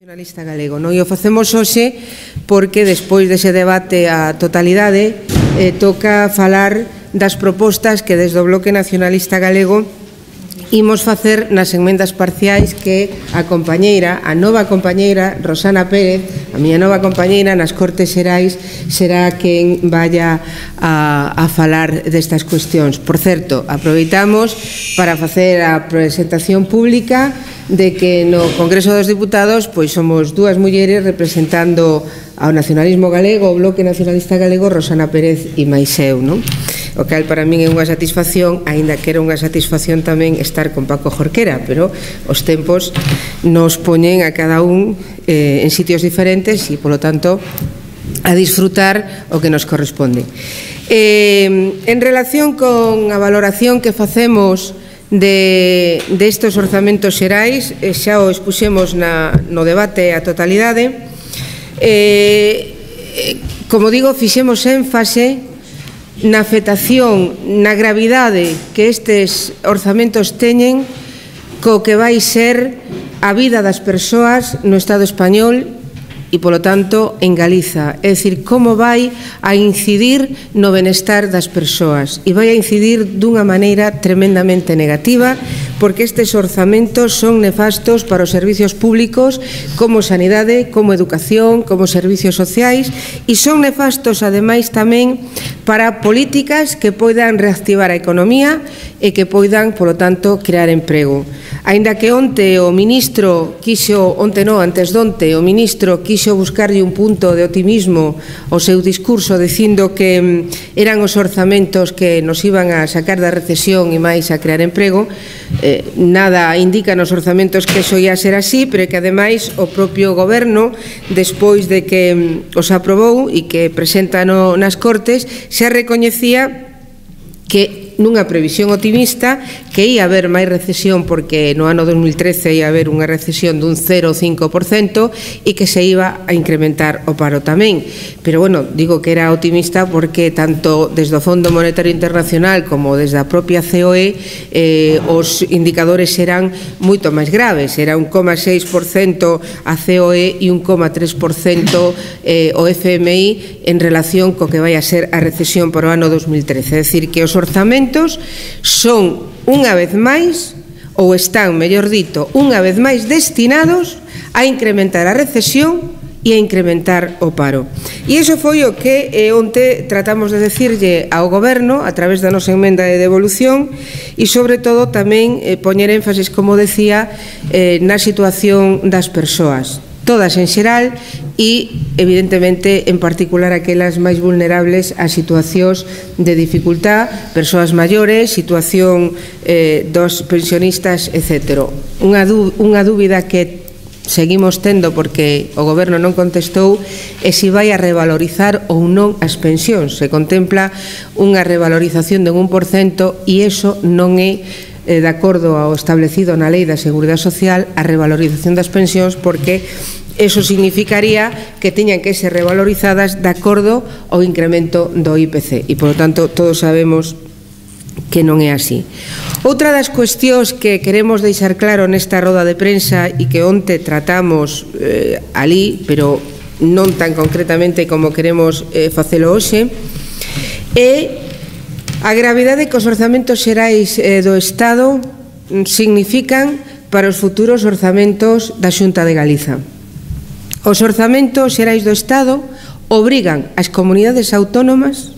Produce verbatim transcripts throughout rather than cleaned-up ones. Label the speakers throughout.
Speaker 1: Nacionalista galego, non? E o facemos hoxe porque despois dese debate á totalidade eh, toca falar das propostas que desde o Bloque Nacionalista Galego imos facer nas enmendas parciais que a compañeira, a nova compañeira Rosana Pérez, a miña nova compañeira nas Cortes Xerais, será quen vaya a, a falar destas cuestións. Por certo, aproveitamos para facer a presentación pública de que no Congreso dos Diputados pois somos dúas mulleres representando ao nacionalismo galego, o Bloque Nacionalista Galego, Rosana Pérez e máis eu, non? O cal para min é unha satisfacción, aínda que era unha satisfacción tamén estar con Paco Jorquera, pero os tempos nos poñen a cada un eh, en sitios diferentes e, polo tanto, a disfrutar o que nos corresponde. Eh, en relación con a valoración que facemos de, de estos orzamentos xerais, eh, xa o expuxemos na, no debate a totalidade. Eh, eh, como digo, fixemos énfase na afectación, na gravidade que estes orzamentos teñen co que vai ser a vida das persoas no Estado español e, polo tanto, en Galiza. É dicir, como vai a incidir no benestar das persoas. E vai a incidir dunha maneira tremendamente negativa, porque estes orzamentos son nefastos para os servicios públicos como sanidade, como educación, como servicios sociais, e son nefastos, ademais, tamén para políticas que poidan reactivar a economía e que poidan, polo tanto, crear emprego. Aínda que onte o ministro quixo, onte non, antes donte, o ministro quixo buscarlle un punto de optimismo ao seu discurso dicindo que eran os orzamentos que nos iban a sacar da recesión e máis a crear emprego, eh, nada indica nos orzamentos que iso ia ser así, pero que ademais o propio goberno, despois de que os aprobou e que presenta no, nas Cortes, xa recoñecía que nunha previsión optimista que ia haber máis recesión porque no ano dos mil trece ia haber unha recesión dun cero coma cinco por cento e que se iba a incrementar o paro tamén. Pero, bueno, digo que era optimista porque tanto desde o Fondo Monetario Internacional como desde a propia C O E eh, os indicadores eran moito máis graves. Era un coma seis por cento a C O E e un coma tres por cento eh, o F M I en relación co que vai a ser a recesión para o ano dos mil trece. É dicir, que os orzamentos son unha vez máis, ou están, mellor dito, unha vez máis destinados a incrementar a recesión e a incrementar o paro. E iso foi o que eh, onte tratamos de decirlle ao Goberno a través da nosa emenda de devolución e, sobre todo, tamén eh, poñer énfasis, como decía, eh, na situación das persoas, todas en xeral e, evidentemente, en particular aquelas máis vulnerables a situacións de dificultad, persoas maiores, situación eh, dos pensionistas, etcétera. Unha, unha dúbida que seguimos tendo porque o Goberno non contestou é se vai a revalorizar ou non as pensións. Se contempla unha revalorización de un por cento e iso non é de acordo ao establecido na Lei da Seguridade Social a revalorización das pensións, porque eso significaría que teñan que ser revalorizadas de acordo ao incremento do I P C e, polo tanto, todos sabemos que non é así. Outra das cuestións que queremos deixar claro nesta roda de prensa e que onte tratamos eh, alí, pero non tan concretamente como queremos eh, facelo hoxe, é a gravidade que os orzamentos xerais eh, do Estado significan para os futuros orzamentos da Xunta de Galiza. Os orzamentos xerais do Estado obrigan as comunidades autónomas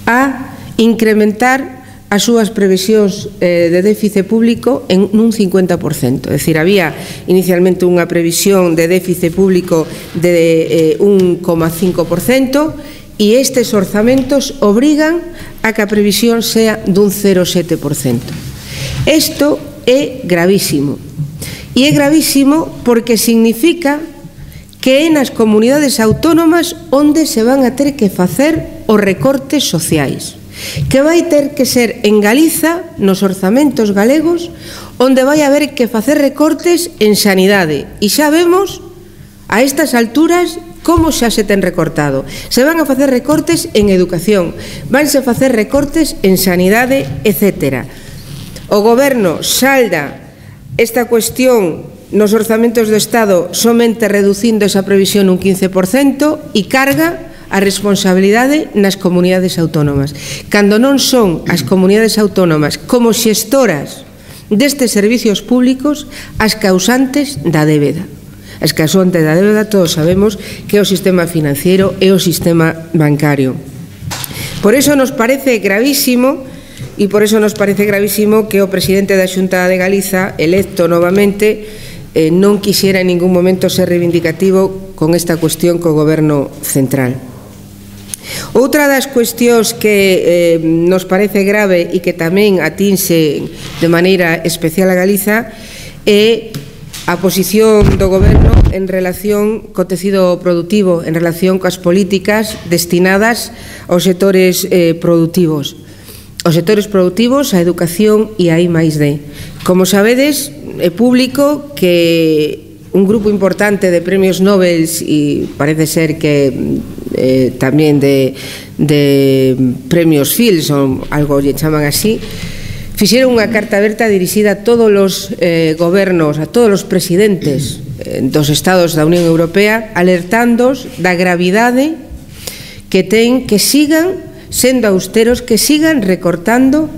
Speaker 1: a incrementar as súas previsións eh, de déficit público en un cincuenta por cento. É dicir, había inicialmente unha previsión de déficit público de eh, un coma cinco por cento e estes orzamentos obrigan a que a previsión sea dun cero coma sete por cento. Isto é gravísimo. E é gravísimo porque significa que é nas comunidades autónomas onde se van a ter que facer os recortes sociais, que vai ter que ser en Galiza, nos orzamentos galegos, onde vai haber que facer recortes en sanidade. E xa vemos, a estas alturas, como xa se ten recortado. Se van a facer recortes en educación, vanse a facer recortes en sanidade, etcétera. O Goberno salda esta cuestión nos orzamentos do Estado somente reducindo esa previsión un quince por cento e carga a responsabilidade nas comunidades autónomas. Cando non son as comunidades autónomas como xestoras destes servicios públicos as causantes da débeda. As causantes da débeda todos sabemos que é o sistema financiero e o sistema bancario. Por iso nos parece gravísimo e por iso nos parece gravísimo que o presidente da Xunta de Galiza, electo novamente, eh, non quixera en ningún momento ser reivindicativo con esta cuestión co Goberno central. Outra das cuestións que eh, nos parece grave e que tamén atinse de maneira especial a Galiza é a posición do Goberno en relación co tecido productivo, en relación coas políticas destinadas aos sectores eh, productivos. Os sectores productivos, a educación e a I máis D. Como sabedes, é público que un grupo importante de premios Nobel e parece ser que eh, tamén de, de premios Fields ou algo lle chaman así, fixeron unha carta aberta dirixida a todos os eh, gobernos, a todos os presidentes eh, dos estados da Unión Europea, alertándos da gravidade que ten que sigan sendo austeros, que sigan recortando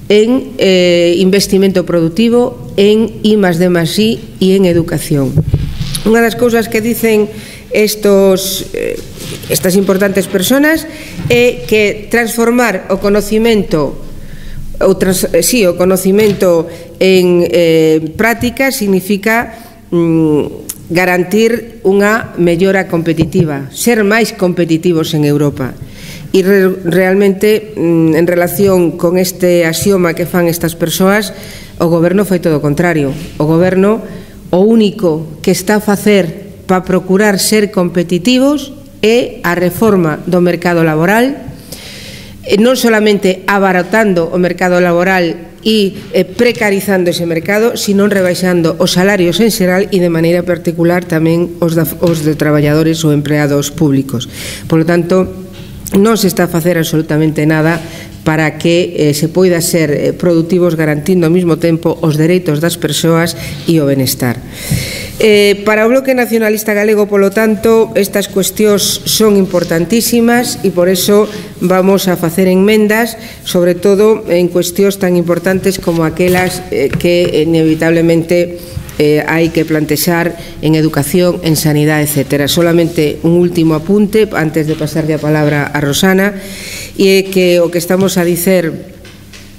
Speaker 1: en eh, investimento productivo, en I más D más I e en educación. Unha das cousas que dicen estos, eh, estas importantes personas é que transformar o conocimento o, trans, sí, o conocimento en eh, práctica significa mm, garantir unha mellora competitiva, ser máis competitivos en Europa. E re, realmente, en relación con este axioma que fan estas persoas, o Goberno foi todo o contrario. O Goberno, o único que está a facer para procurar ser competitivos é a reforma do mercado laboral, non solamente abaratando o mercado laboral e precarizando ese mercado, sino rebaixando os salarios en xeral e de maneira particular tamén os de traballadores ou empleados públicos. Por lo tanto, non se está a facer absolutamente nada para que eh, se poida ser eh, productivos garantindo ao mesmo tempo os dereitos das persoas e o benestar. Eh, para o Bloque Nacionalista Galego, polo tanto, estas cuestións son importantísimas e por eso vamos a facer enmendas, sobre todo en cuestións tan importantes como aquelas eh, que inevitablemente Eh, hai que plantexar en educación, en sanidade, etcétera. Solamente un último apunte antes de pasarle a palabra a Rosana, e é que o que estamos a dicer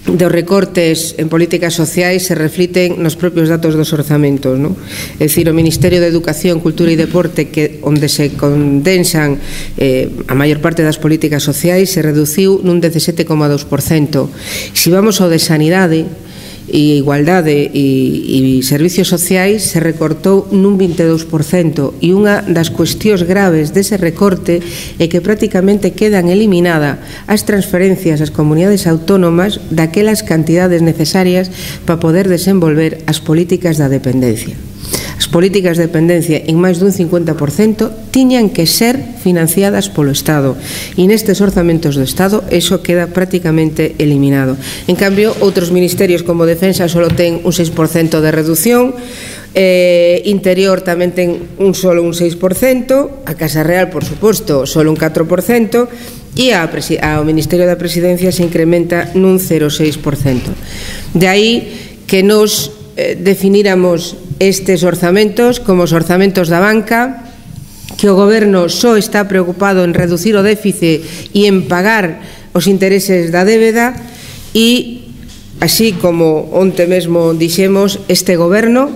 Speaker 1: dos recortes en políticas sociais se refliten nos propios datos dos orzamentos, non? É dicir, o Ministerio de Educación, Cultura e Deporte, que onde se condensan eh, a maior parte das políticas sociais, se reduciu nun dezasete coma dous por cento. Se vamos ao de sanidade e igualdade e, e servicios sociais, se recortou nun vinte e dous por cento, e unha das cuestións graves dese recorte é que prácticamente quedan eliminadas as transferencias ás comunidades autónomas daquelas cantidades necesarias para poder desenvolver as políticas da dependencia. As políticas de dependencia en máis dun cincuenta por cento tiñan que ser financiadas polo Estado, e nestes orzamentos do Estado eso queda prácticamente eliminado. En cambio, outros ministerios como Defensa só ten un seis por cento de reducción, eh, Interior tamén ten un solo un seis por cento, a Casa Real, por suposto, solo un catro por cento, e ao Ministerio da Presidencia se incrementa nun cero coma seis por cento. De aí que nos eh, definíramos estes orzamentos como os orzamentos da banca, que o Goberno só está preocupado en reducir o déficit e en pagar os intereses da débeda, e así como onte mesmo dixemos, este Goberno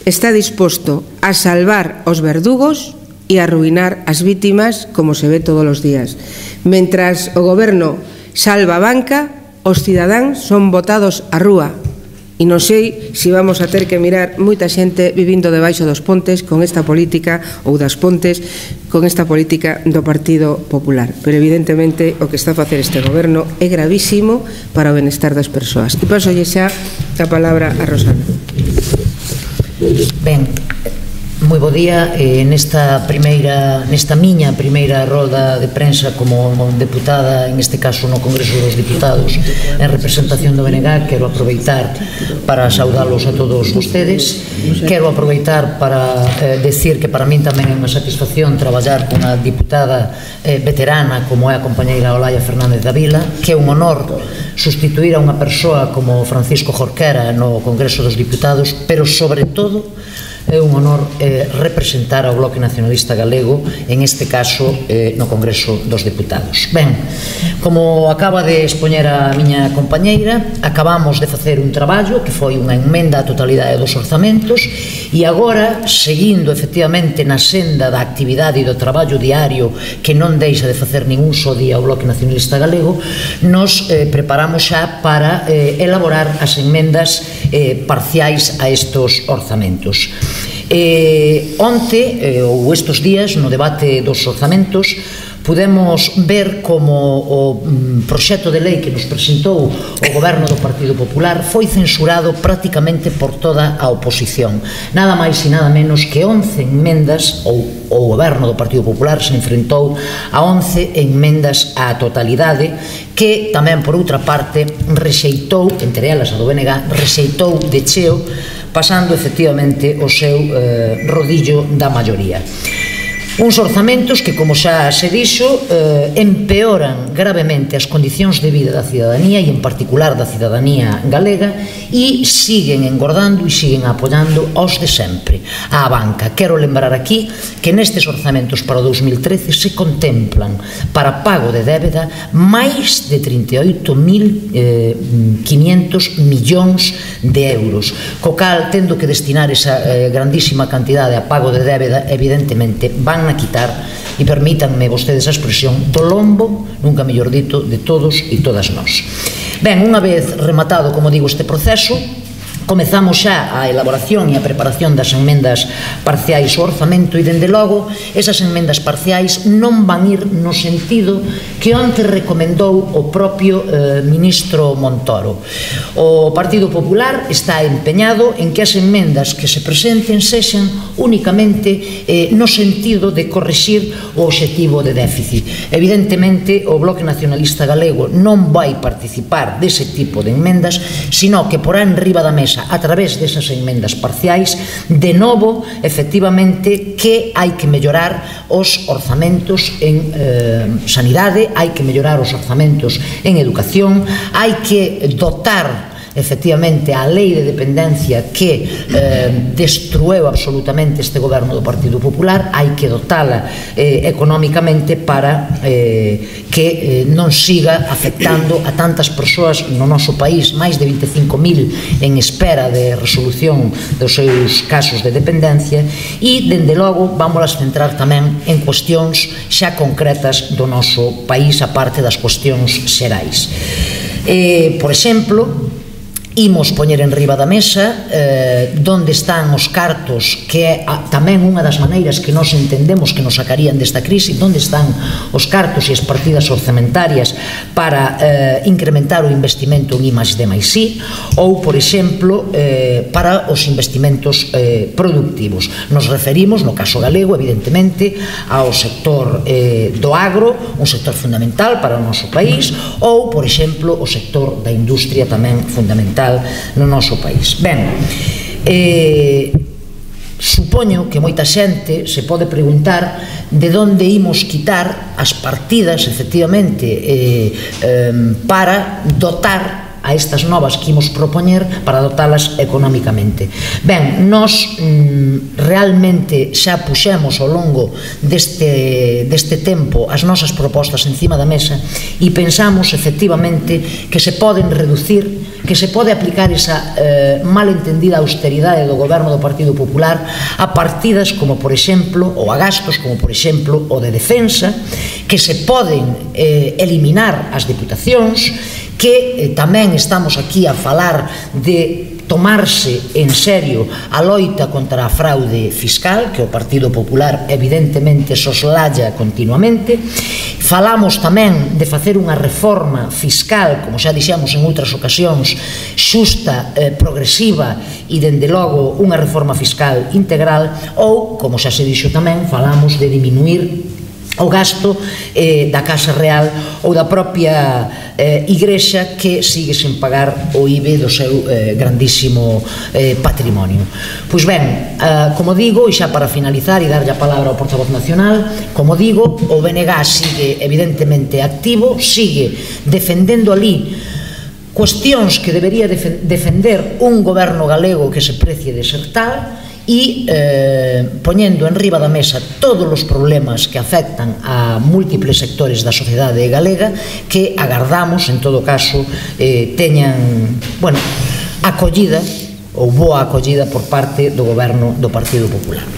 Speaker 1: está disposto a salvar os verdugos e a arruinar as vítimas, como se ve todos os días. Mentras o Goberno salva a banca, os cidadáns son botados á rúa. E non sei se vamos a ter que mirar moita xente vivindo debaixo dos pontes con esta política, ou das pontes, con esta política do Partido Popular. Pero evidentemente o que está a facer este Goberno é gravísimo para o benestar das persoas. E paso xa a palabra a Rosana.
Speaker 2: Ben, Moi bo día. Eh, nesta primeira, nesta miña primeira roda de prensa como deputada, en este caso no Congreso dos Diputados, en representación do B N G, quero aproveitar para saudalos a todos vostedes. Quero aproveitar para eh, decir que para min tamén é unha satisfacción traballar con unha diputada eh, veterana como é a compañeira Olaya Fernández da Vila, que é un honor sustituir a unha persoa como Francisco Jorquera no Congreso dos Diputados, pero sobre todo é un honor eh, representar ao Bloque Nacionalista Galego, en este caso eh, no Congreso dos Deputados. Ben, como acaba de expoñer a miña compañeira, acabamos de facer un traballo que foi unha emenda á totalidade dos orzamentos e agora, seguindo efectivamente na senda da actividade e do traballo diario que non deixa de facer ningún só día o Bloque Nacionalista Galego, nos eh, preparamos xa para eh, elaborar as emendas eh, parciais a estos orzamentos. Eh, onte, eh, ou estes días, no debate dos orzamentos, podemos ver como o mm, proxecto de lei que nos presentou o Goberno do Partido Popular foi censurado prácticamente por toda a oposición. Nada máis e nada menos que once enmendas, ou o Goberno do Partido Popular se enfrentou a once enmendas á totalidade, que tamén, por outra parte, rexeitou, entre elas a do B N G, rexeitou de cheo, pasando efectivamente o seu eh, rodillo da maioría. Uns orzamentos que, como xa se dixo, eh, empeoran gravemente as condicións de vida da cidadanía e, en particular, da cidadanía galega, e siguen engordando e siguen apoiando aos de sempre, á banca. Quero lembrar aquí que nestes orzamentos para o dous mil trece se contemplan para pago de débeda máis de trinta e oito mil quinientos millóns de euros, co cal, tendo que destinar esa eh, grandísima cantidade a pago de débeda, evidentemente van a quitar, e permítanme vostedes a expresión, do lombo, nunca mellor dito, de todos e todas nós. Ben, unha vez rematado, como digo, este proceso, comezamos xa a elaboración e a preparación das enmendas parciais ao orzamento e, dende logo, esas enmendas parciais non van ir no sentido que onte recomendou o propio eh, ministro Montoro. O Partido Popular está empeñado en que as enmendas que se presenten sexan únicamente eh, no sentido de correxir o obxectivo de déficit. Evidentemente, o Bloque Nacionalista Galego non vai participar dese tipo de enmendas, sino que porá en riba da mesa a través desas enmendas parciais, de novo, efectivamente, que hai que mellorar os orzamentos en eh, sanidade, hai que mellorar os orzamentos en educación, hai que dotar efectivamente a lei de dependencia que eh, destrueu absolutamente este goberno do Partido Popular, hai que dotala eh, económicamente para eh, que eh, non siga afectando a tantas persoas no noso país, máis de vinte e cinco mil en espera de resolución dos seus casos de dependencia, e, dende logo, vamos a centrar tamén en cuestións xa concretas do noso país, a parte das cuestións xerais. Eh, por exemplo, imos poñer en riba da mesa eh, donde están os cartos, que é a, tamén unha das maneiras que nos entendemos que nos sacarían desta crise, donde están os cartos e as partidas orzamentarias para eh, incrementar o investimento en I máis D máis I, ou, por exemplo, eh, para os investimentos eh, productivos. Nos referimos, no caso galego, evidentemente, ao sector eh, do agro, un sector fundamental para o noso país, ou, por exemplo, o sector da industria, tamén fundamental no noso país. Ben, eh, supoño que moita xente se pode preguntar de onde imos quitar as partidas, efectivamente, eh, eh, para dotar a estas novas que imos propoñer, para dotalas económicamente. Ben, nós mm, realmente xa puxemos ao longo deste, deste tempo as nosas propostas encima da mesa e pensamos efectivamente que se poden reducir, que se pode aplicar esa eh, malentendida austeridade do goberno do Partido Popular a partidas como, por exemplo, ou a gastos como, por exemplo, o de defensa, que se poden eh, eliminar as diputacións, que tamén estamos aquí a falar de tomarse en serio a loita contra a fraude fiscal, que o Partido Popular evidentemente soslaya continuamente. Falamos tamén de facer unha reforma fiscal, como xa dixemos en outras ocasións, xusta, eh, progresiva e, dende logo, unha reforma fiscal integral, ou, como xa se dixo tamén, falamos de diminuir o gasto eh, da Casa Real ou da propia eh, Igrexa, que sigue sen pagar o I B I do seu eh, grandísimo eh, patrimonio. Pois ben, eh, como digo, e xa para finalizar e darlle a palabra ao portavoz nacional, como digo, o B N G sigue evidentemente activo, sigue defendendo ali cuestións que debería defender un goberno galego que se precie de ser tal, e eh, poñendo en riba da mesa todos os problemas que afectan a múltiples sectores da sociedade galega, que agardamos, en todo caso, eh, teñan, bueno, acollida ou boa acollida por parte do goberno do Partido Popular.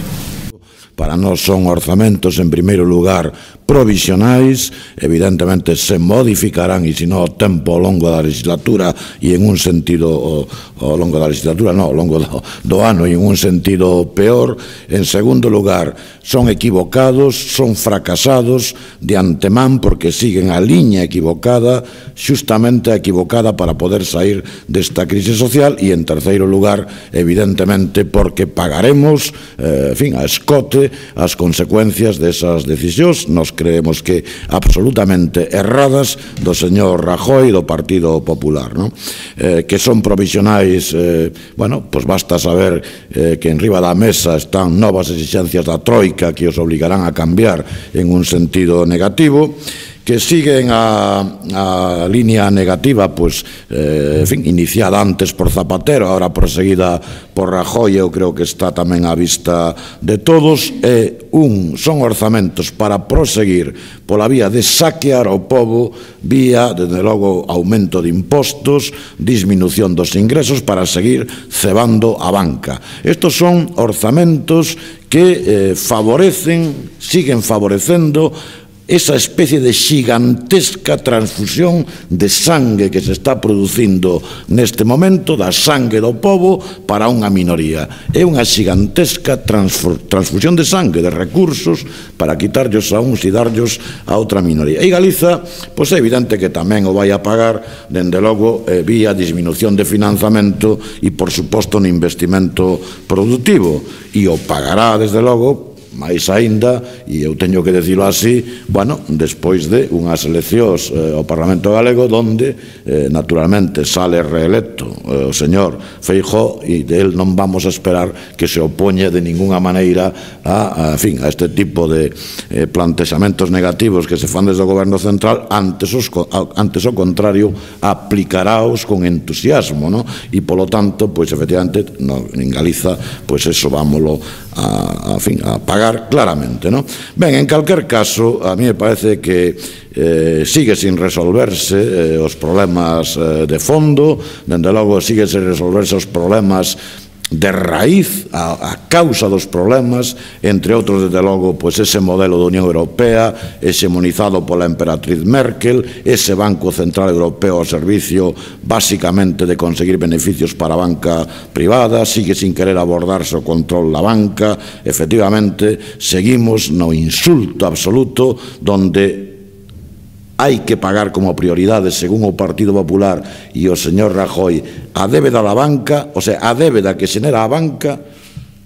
Speaker 3: Para nós son orzamentos, en primeiro lugar, provisionais, evidentemente se modificarán, e se non o tempo ao longo da legislatura, e en un sentido ao longo da legislatura, non, ao longo do, do ano, e en un sentido peor. En segundo lugar, son equivocados, son fracasados de antemán, porque siguen a liña equivocada, xustamente equivocada para poder sair desta crise social. E en terceiro lugar, evidentemente, porque pagaremos, eh, en fin, a escote as consecuencias desas decisións, nos creemos que absolutamente erradas, do señor Rajoy e do Partido Popular, non? Eh, que son provisionais, eh, bueno, pois basta saber eh, que en riba da mesa están novas exigencias da Troika que os obligarán a cambiar en un sentido negativo, que siguen a, a línea negativa, pues, eh, en fin, iniciada antes por Zapatero, ahora proseguida por Rajoy, eu creo que está tamén á vista de todos. E un, son orzamentos para proseguir pola vía de saquear ao pobo, vía, desde logo, aumento de impostos, disminución dos ingresos, para seguir cebando a banca. Estos son orzamentos que eh, favorecen, siguen favorecendo esa especie de xigantesca transfusión de sangue que se está producindo neste momento, da sangue do pobo para unha minoría. É unha xigantesca transfusión de sangue, de recursos, para quitarllos a uns e darllos a outra minoría. E Galiza, pois é evidente que tamén o vai a pagar, dende logo, eh, vía disminución de financiamento e, por suposto, no investimento productivo. E o pagará, desde logo, máis aínda, e eu teño que dicilo así, bueno, despois de unhas eleccións eh, ao Parlamento Galego, donde, eh, naturalmente, sale reelecto eh, o señor Feijóo, e del non vamos a esperar que se opoñe de ninguna maneira a, a, en fin, a este tipo de eh, plantexamentos negativos que se fan desde o Goberno Central. Antes, os, antes o contrario, aplicaráos con entusiasmo, no? E, polo tanto, pois, efectivamente, no, en Galiza, pois, eso vámolo a, a, fin, a pagar claramente, ¿no? Ben, en calquer caso, a mí me parece que eh, sigue sin resolverse eh, os problemas eh, de fondo, dende logo sigue sin resolverse os problemas de raíz, a, a causa dos problemas, entre outros, desde logo, pois ese modelo da Unión Europea hexemonizado pola emperatriz Merkel, ese Banco Central Europeo ao servicio basicamente de conseguir beneficios para a banca privada, sigue sin querer abordarse o control da banca. Efectivamente, seguimos no insulto absoluto, donde hai que pagar como prioridade, según o Partido Popular e o señor Rajoy, a débeda da banca, o sea, a débeda que xenera a banca,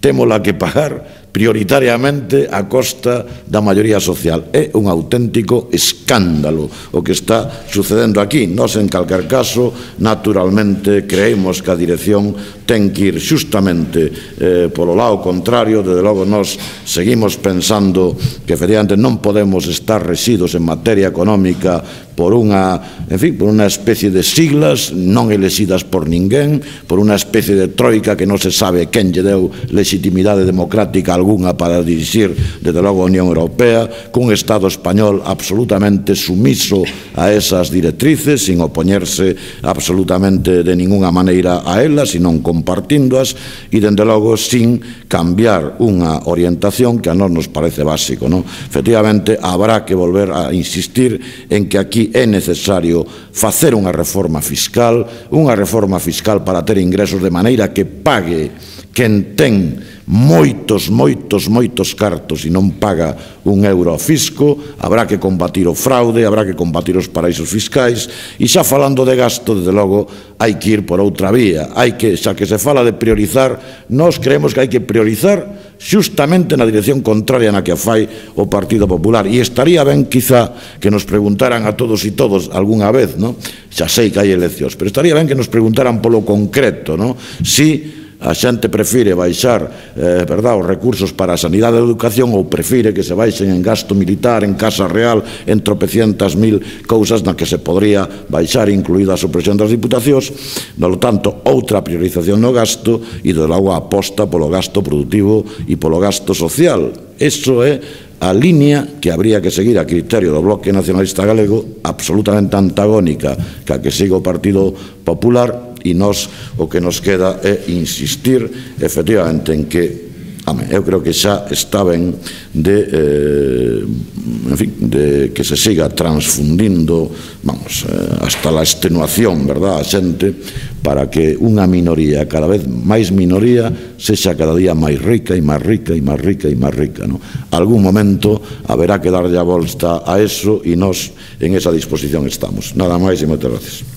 Speaker 3: témola que pagar prioritariamente a costa da maioría social. É un auténtico escándalo o que está sucedendo aquí. Nós, en calquer caso, naturalmente, creemos que a dirección ten que ir xustamente eh, polo lado contrario. Desde logo, nós seguimos pensando que, efectivamente, non podemos estar residos en materia económica por unha, en fin, por unha especie de siglas non elexidas por ninguén, por unha especie de troika que non se sabe quen lle deu legitimidade democrática a algunha para dirixir desde logo a Unión Europea, cun Estado español absolutamente sumiso a esas directrices, sin opoñerse absolutamente de ninguna maneira a elas, sino compartíndoas, e dende logo sin cambiar unha orientación que a nós nos parece básico, non? Efectivamente, habrá que volver a insistir en que aquí é necesario facer unha reforma fiscal, unha reforma fiscal para ter ingresos de maneira que pague quen ten moitos, moitos, moitos cartos e non paga un euro ao fisco. Habrá que combatir o fraude, habrá que combatir os paraísos fiscais, e xa falando de gasto, desde logo, hai que ir por outra vía. Hai que, xa que se fala de priorizar, nós creemos que hai que priorizar xustamente na dirección contraria na que a fai o Partido Popular, e estaría ben quizá que nos preguntaran a todos e todos algunha vez, non? Xa sei que hai eleccións, pero estaría ben que nos preguntaran polo concreto, non? Si a xente prefire baixar eh, verdad, os recursos para a sanidade e a educación, ou prefire que se baixen en gasto militar, en Casa Real, en tropecientas mil cousas na que se podría baixar, incluída a supresión das diputacións. No tanto, outra priorización no gasto e, de logo, a aposta polo gasto productivo e polo gasto social. Iso é a línea que habría que seguir a criterio do Bloque Nacionalista Galego, absolutamente antagónica que a que siga o Partido Popular, e nós o que nos queda é insistir efectivamente en que ame, eu creo que xa está ben de, eh, en fin, de que se siga transfundindo, vamos, eh, hasta la extenuación, verdad, a xente, para que unha minoría, cada vez máis minoría, sexa cada día máis rica e máis rica e máis rica e máis rica, non? Algún momento haberá que darlle a volta a eso, e nós en esa disposición estamos. Nada máis e moitas gracias.